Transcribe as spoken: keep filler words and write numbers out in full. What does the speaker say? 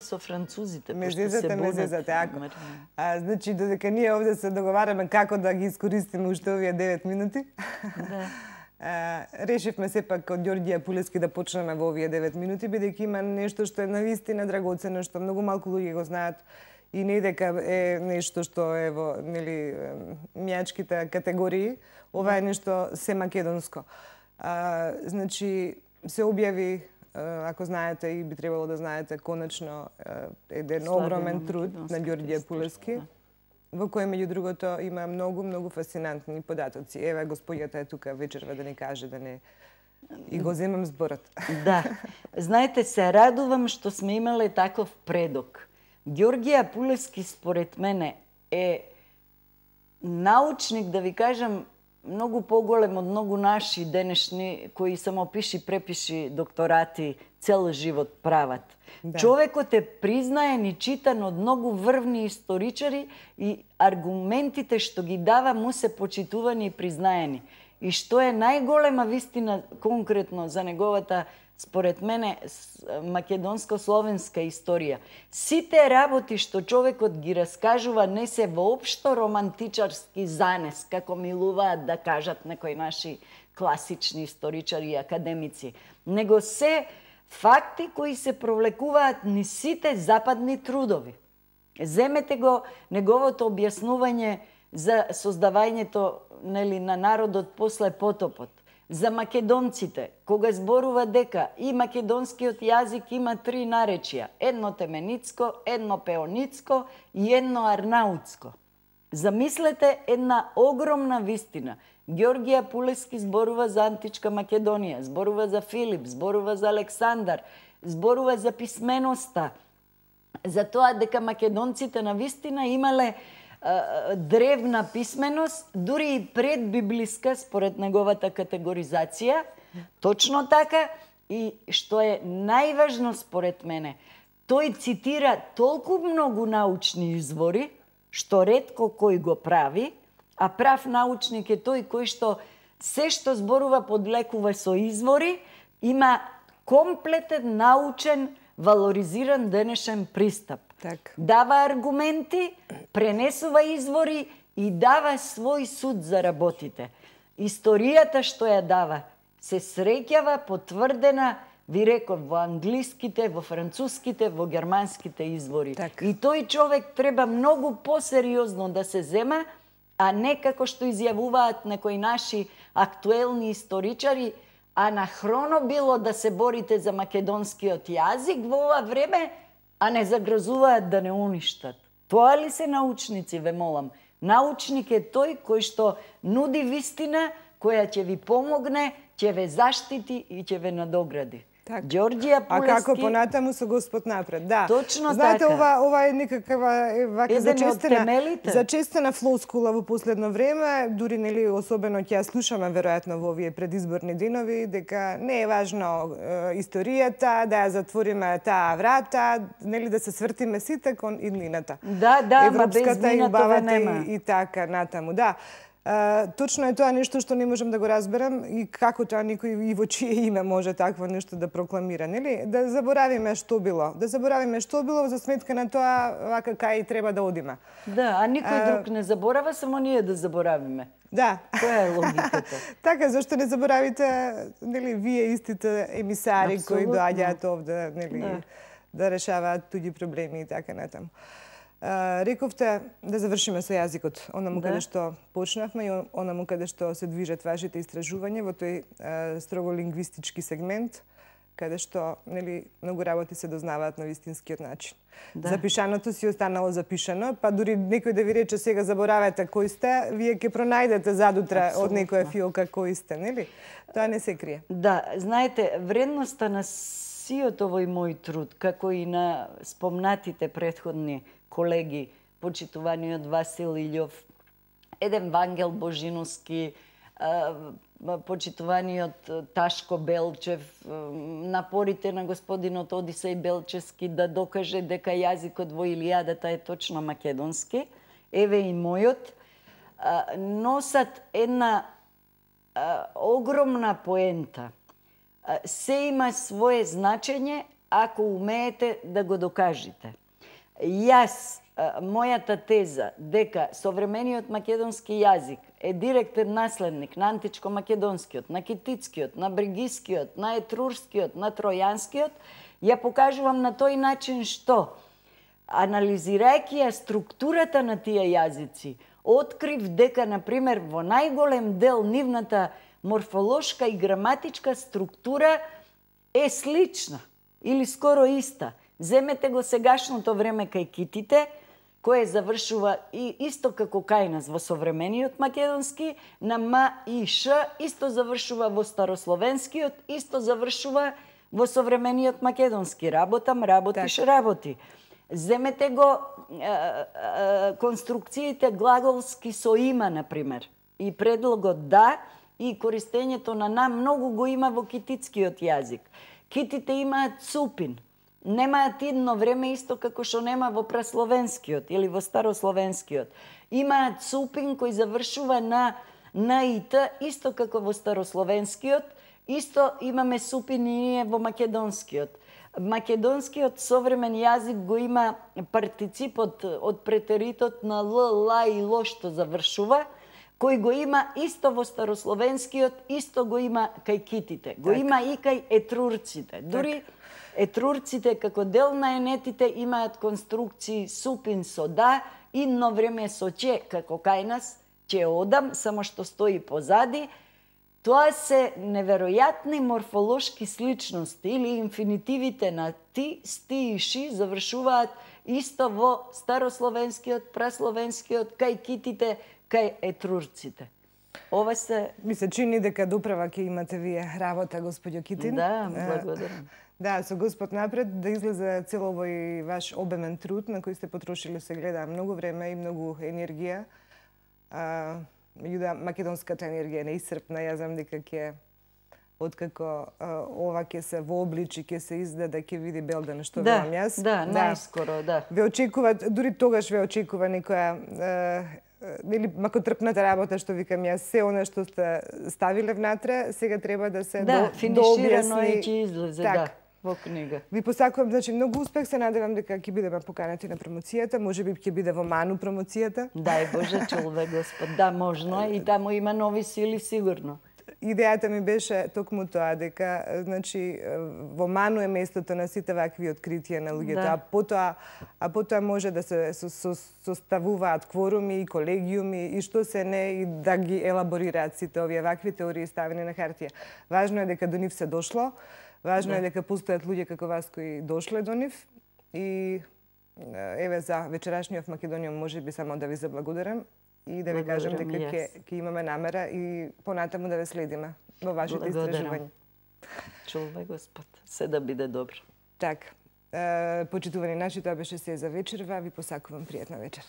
со французите, ме пошто се зезате, ме бунат. зезате, ако. А, значи, додека ние овде се договараме како да ги искористиме уште овие девет минути, Да. а, решивме сепак од Ѓорѓија Пулески да почнеме во овие девет минути, бидејќи има нешто што е навистина драгоцено, што многу малку луѓе го знаат и не дека е нешто што е во, нели, мијачките категории, ова е нешто се македонско. А, значи, се објави, ако знаете и би требало да знаете, конечно еден Славена огромен труд на Ѓорѓија Пулески, во кој меѓу другото има многу, многу фасцинантни податоци. Еве, господјата е тука вечерва да ни каже, да не и го земам зборот. Да. Знаете, се радувам што сме имале таков предок. Ѓорѓија Пулески, според мене, е научник, да ви кажам, многу поголем од многу наши денешни кои само пиши препиши докторати цел живот прават. Да. Човекот е признаен и читан од многу врвни историчари и аргументите што ги дава му се почитувани и признаени. И што е најголема вистина конкретно за неговата, според мене, македонско-словенска историја. Сите работи што човекот ги раскажува не се воопшто романтичарски занес, како милуваат да кажат некои наши класични историчари и академици, него се факти кои се провлекуваат низ сите западни трудови. Земете го неговото објаснување за создавањето, нели, на народот после потопот, за македонците, кога зборува дека и македонскиот јазик има три наречија, едно теменицко, едно пеоницко и едно арнаутско. Замислете една огромна вистина. Ѓорѓија Пулески зборува за античка Македонија, зборува за Филип, зборува за Александар, зборува за писменоста, за тоа дека македонците на вистина имале древна писменост, дури и предбиблиска според неговата категоризација, точно така, и што е најважно според мене, тој цитира толку многу научни извори, што ретко кој го прави, а прав научник е тој кој што се што зборува подлекува со извори, има комплетен научен, валоризиран денешен пристап. Так. Дава аргументи, пренесува извори и дава свој суд за работите. Историјата што ја дава се среќава потврдена, ви реков, во англиските, во француските, во германските извори. Так. И тој човек треба многу посериозно да се зема, а не како што изјавуваат некои наши актуелни историчари, анахроно било да се борите за македонскиот јазик во ова време, а не загрозуваат да не уништат. Тоа ли се научници, ве молам? Научник е тој кој што нуди вистина, која ќе ви помогне, ќе ве заштити и ќе ве надогради. Так. Ѓорѓија Пулески... А како понатаму со Господ напред, да. Точно Знаете, така. ова, ова е некаква вака зачестена, зачестена флоскула во последно време, дури, нели, особено ќе ја слушаме веројатно во овие предизборни денови, дека не е важно е, историјата, да ја затвориме таа врата, нели, да се свртиме сите кон иднината. Да, да, ма без Европската и минатове убавата нема. и, и така натаму, да. Uh, точно е тоа нешто што не можам да го разберам и како тоа никој и во чие име може такво нешто да прокламира, нели? Да заборавиме што било, да заборавиме што било за сметка на тоа вака кај треба да одиме. Да, а никој Uh, друг не заборава, само ние да заборавиме. Да. Која е логиката? Така, зашто не заборавите, нели, вие истите емисари Абсолютно. кои доаѓаат овде, нели, Да. да решаваат туѓи проблеми и така натаму. Uh, рековте да завршиме со јазикот, онаму Да. каде што почнавме и онаму каде што се движат вашите истражувања во тој uh, строго лингвистички сегмент, каде што, нели, многу работи се дознаваат на вистинскиот начин. Да. Запишаното си останало запишано, па дури некој да ви рече сега заборавете кој сте, вие ќе пронајдете задутра од некоја фиолка кој сте, нели? Тоа не се крие. Да, знаете, вредноста на сиот овој мој труд, како и на спомнатите претходни колеги, почитуваниот Васил Илјов, еден Вангел Божиновски, почитуваниот Ташко Белчев, напорите на господинот Одисеј Белчевски да докаже дека јазикот во Илијадата е точно македонски, еве и мојот, носат една огромна поента. Се има свое значење, ако умеете да го докажете. Јас, мојата теза дека современиот македонски јазик е директен наследник на античко-македонскиот, на китицкиот, на бригискиот, на етрурскиот, на тројанскиот, ја покажувам на тој начин што, анализирајќи ја структурата на тие јазици, открив дека, например, во најголем дел нивната морфолошка и граматичка структура е слична или скоро иста. Земете го сегашното време кај китите, кое завршува и исто како кај нас во современиот македонски, на М и Ш, исто завршува во старословенскиот, исто завршува во современиот македонски. Работам, работиш, так. работи. Земете го е, е, конструкциите глаголски со има, например, и предлогот да, и користењето на на многу го има во китицкиот јазик. Китите имаат цупин. Немаат идно време исто како што нема во прасловенскиот или во старословенскиот. Имаат цупин кој завршува на на и т, исто како во старословенскиот, исто имаме супин и ние во македонскиот. Македонскиот современ јазик го има партиципот од претеритот на л, ла и ло што завршува, кој го има исто во старословенскиот, исто го има кај китите. Го так. Има и кај етрурците. Дури так. Етрурците како дел на енетите имаат конструкции супин со да, идно време со че, како кај нас, че одам, само што стои позади. Тоа се неверојатни морфолошки сличности или инфинитивите на ти, сти и ши завршуваат исто во старословенскиот, прасловенскиот, кај китите, кај етрурците. Ова се... Ми се чини дека доправа ќе имате вие работа, господјо Китин. Да, благодарам. Да, со Господ напред, да излезе цел овој ваш обемен труд на кој сте потрошили, се гледа, многу време и многу енергија. А, меѓутоа, македонската енергија не исцрпна. Ја знам дека ќе, откако а, ова ќе се вообличи, ќе се издаде, ќе види Белден што да, велам јас. Да, најскоро, да. Ве очекуваат, дури тогаш ве очекува некоја нели макотрпната работа, што викам јас, се она што сте ставиле внатре, сега треба да се да, до, финиширано и ќе излезе, так. да, во книга. Ви посакувам, значи, многу успех, се надевам дека ќе бидеме поканети на промоцијата, можеби ќе биде во Ману промоцијата. Дај Боже, чулве Господ, да, можно и таму има нови сили сигурно. Идејата ми беше токму тоа, дека значи во Ману е местото на сите вакви откритија на луѓето, да. а потоа а потоа може да се составуваат кворуми и колегиуми и што се не и да ги елаборираат сите овие вакви теории ставени на хартија. Важно е дека до нив се дошло, важно да. е дека постојат луѓе како вас кои дошле до нив и еве за вечерашниот Македонија можеби само да ви заблагодарам. И да ви кажам дека ќе ќе имаме намера и понатаму да ве следиме во вашите истражувања. Чувај Господ, се да биде добро. Така. Почитувани наши, тоа беше се за вечерва. Ви посакувам пријатна вечер.